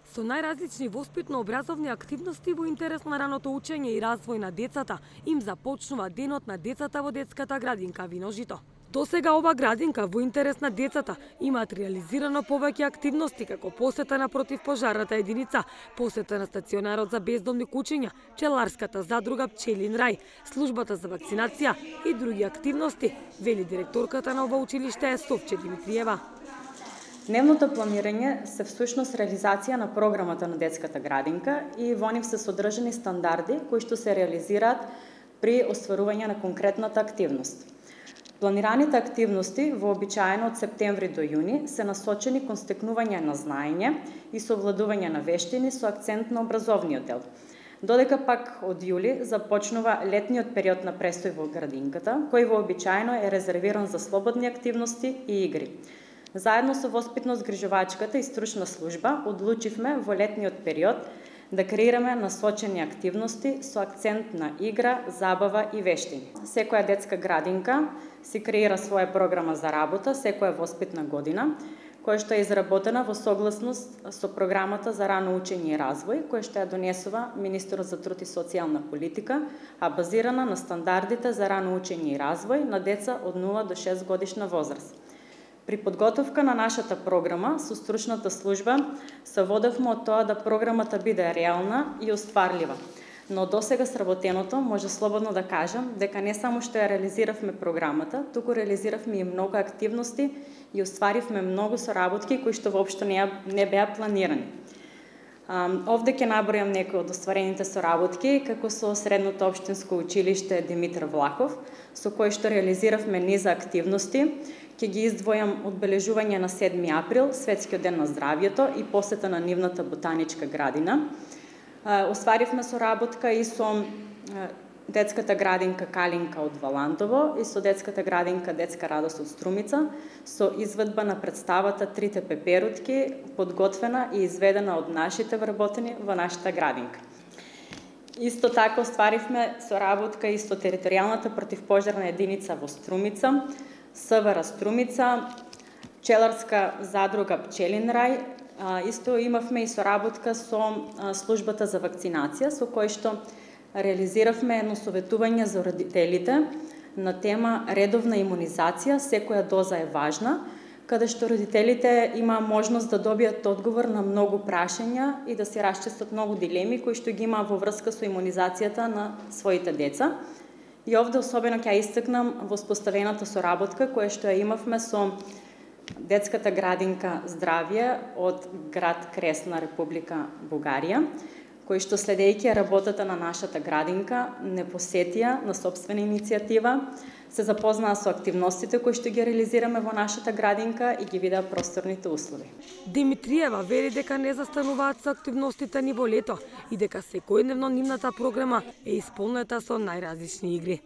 Со најразлични воспитно-образовни активности во интерес на раното учење и развој на децата, им започнува денот на децата во детската градинка Виножито. Досега ова градинка во интерес на децата имаат реализирано повеќе активности како посета на противпожарната единица, посета на стационарот за бездомни кучиња, пчеларската задруга Пчелин рај, службата за вакцинација и други активности, вели директорката на ова училиште Совче Димитриева. Дневното планирање се всушност реализација на програмата на детската градинка и во нив се содржани стандарди кои што се реализираат при остварување на конкретната активност. Планираните активности вообичаено од септември до јуни се насочени кон стекнување на знаење и совладување на вештини со акцент на образовниот дел. Додека пак од јули започнува летниот период на престој во градинката, кој вообичаено е резервиран за слободни активности и игри. Заедно со воспитно-згрижувачката и стручна служба одлучивме во летниот период да креираме насочени активности со акцент на игра, забава и вештини. Секоја детска градинка си креира своја програма за работа секоја воспитна година, која што е изработена во согласност со програмата за рано учење и развој, која што ја донесува Министерот за труд и социјална политика, а базирана на стандардите за рано учење и развој на деца од 0 до 6 годишна возраст. При подготовка на нашата програма со стручната служба се водевме од тоа да програмата биде реална и остварлива. Но досега сработеното може слободно да кажам дека не само што ја реализиравме програмата, туку реализиравме и многу активности и остваривме многу соработки кои што воопшто не беа планирани. Овде ќе набројам некои од остварените соработки, како со Средното општинско училиште Димитар Влахов, со кој што реализиравме низа активности. Ќе ги издвојам одбележување на 7 април, Светскиот ден на здравјето и посета на нивната ботаничка градина. Остваривме соработка и со детската градинка Калинка од Валантово и со детската градинка Детска радост од Струмица, со изведба на представата Трите пеперутки, подготвена и изведена од нашите вработени во нашата градинка. Исто така остваривме соработка и со територијалната противпожарна единица во Струмица, СВР Струмица, пчеларска задруга Пчелин рај. Исто имавме и соработка со службата за вакцинација, со кој што реализиравме едно советување за родителите на тема редовна имунизација, секоја доза е важна, каде што родителите има можност да добијат одговор на многу прашања и да се расчистат многу дилеми кои што ги има во врска со имунизацијата на своите деца. И овде особено ќе истакнам воспоставената соработка која што ја имавме со детската градинка Здравје од град Кресна, Република Бугарија, кои што следејќи работата на нашата градинка не посетија на собствена иницијатива, се запознаа со активностите кои што ги реализираме во нашата градинка и ги видеа просторните услови. Димитриева вери дека не застануваат со активностите ни во лето и дека секојдневно нивната програма е исполнета со најразлични игри.